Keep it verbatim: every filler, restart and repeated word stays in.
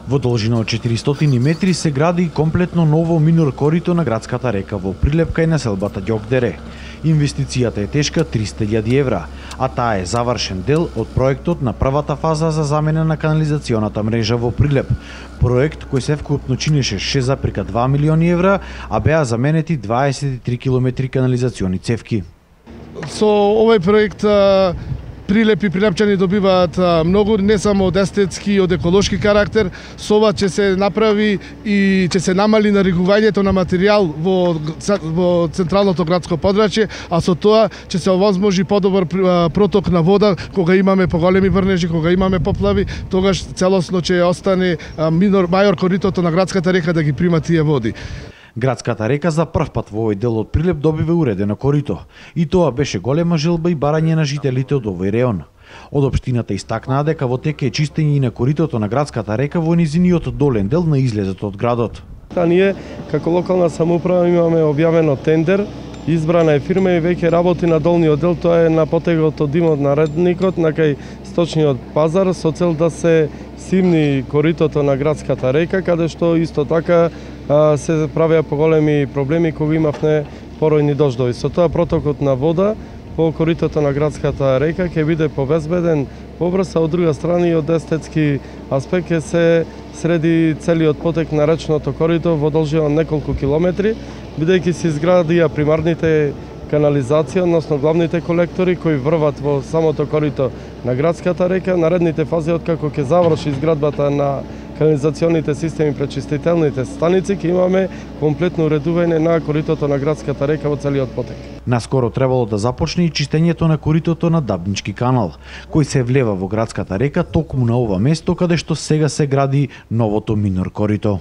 Во должина од четиристотини метри се гради комплетно ново минор корито на градската река во прилеп кај населбата Ѓокдере. Инвестицијата е тешка триста илјади евра, а таа е завршен дел од проектот на првата фаза за замена на канализационата мрежа во Прилеп. Проект кој севкупно чинеше шест зарез два милиони евра, а беа заменети дваесет и три километри канализациони цевки. Со овој проект Прилеп и прилепчани добиваат многу, не само од естетски и од еколошки карактер. Со ова ќе се направи и ќе се намали наригувањето на материјал во, во централното градско подрачје, а со тоа ќе се овозможи подобар проток на вода кога имаме поголеми врнежи, кога имаме поплави, тогаш целосно ќе остане минор мајор коритото на градската река да ги прима тие води. Градската река за прв пат во овој дел од Прилеп добива уредено корито. И тоа беше голема желба и барање на жителите од овој реон. Од општината истакнаа дека во тек е чистење и на коритото на градската река во низиниот долен дел на излезот од градот. Та ние како локална самоуправа имаме објавено тендер, избрана е фирма и веќе работи на долниот дел, тоа е на потегот од димот на редникот на кај сточниот пазар со цел да се симни коритото на градската река, каде што исто така се правеа поголеми проблеми кога имавме поројни дождови. Со тоа протокот на вода по коритото на градската река ќе биде побезбеден, побрз, а од друга страна и од естетски аспект ќе се среди целиот потек на речното корито во должина неколку километри, бидејќи се изградија примарните канализација, односно главните колектори кои врват во самото корито на градската река. Наредните фази, откако ќе заврши изградбата на канализационите системи, пречистителните станици, ќе имаме комплетно уредување на коритото на градската река во целиот потек. Наскоро требало да започне и чистењето на коритото на Дабнички канал, кој се влева во градската река токму на ова место каде што сега се гради новото минор корито.